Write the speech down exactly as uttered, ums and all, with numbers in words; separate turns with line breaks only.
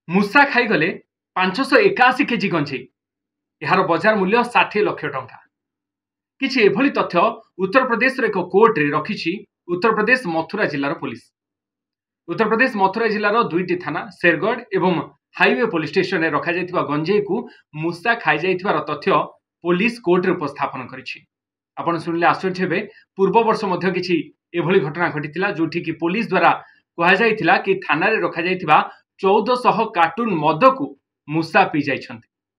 ମୂଷା ଖାଇଗଲେ ପାଞ୍ଚଶହ ଏକାଅଶୀ କେଜି ଗଞ୍ଜେଇ, ଏହାର ବଜାର ମୂଲ୍ୟ ଷାଠିଏ ଲକ୍ଷ ଟଙ୍କା। କିଛି ଏଭଳି ତଥ୍ୟ ଉତ୍ତରପ୍ରଦେଶର ଏକ କୋର୍ଟରେ ରଖିଛି ଉତ୍ତରପ୍ରଦେଶ ମଥୁରା ଜିଲ୍ଲାର ପୋଲିସ। ଉତ୍ତରପ୍ରଦେଶ ମଥୁରା ଜିଲ୍ଲାର ଦୁଇଟି ଥାନା ଶେରଗଡ଼ ଏବଂ ହାଇୱେ ପୋଲିସ ଷ୍ଟେସନରେ ରଖାଯାଇଥିବା ଗଞ୍ଜେଇକୁ ମୂଷା ଖାଇଯାଇଥିବାର ତଥ୍ୟ ପୋଲିସ କୋର୍ଟରେ ଉପସ୍ଥାପନ କରିଛି। ଆପଣ ଶୁଣିଲେ ଆଶ୍ଚର୍ଯ୍ୟ ହେବେ, ପୂର୍ବ ବର୍ଷ ମଧ୍ୟ କିଛି ଏଭଳି ଘଟଣା ଘଟିଥିଲା, ଯୋଉଠିକି ପୋଲିସ ଦ୍ୱାରା କୁହାଯାଇଥିଲା କି ଥାନାରେ ରଖାଯାଇଥିବା ଚଉଦଶହ କାର୍ଟୁନ ମଦକୁ ମୂଷା ପିଇଯାଇଛନ୍ତି।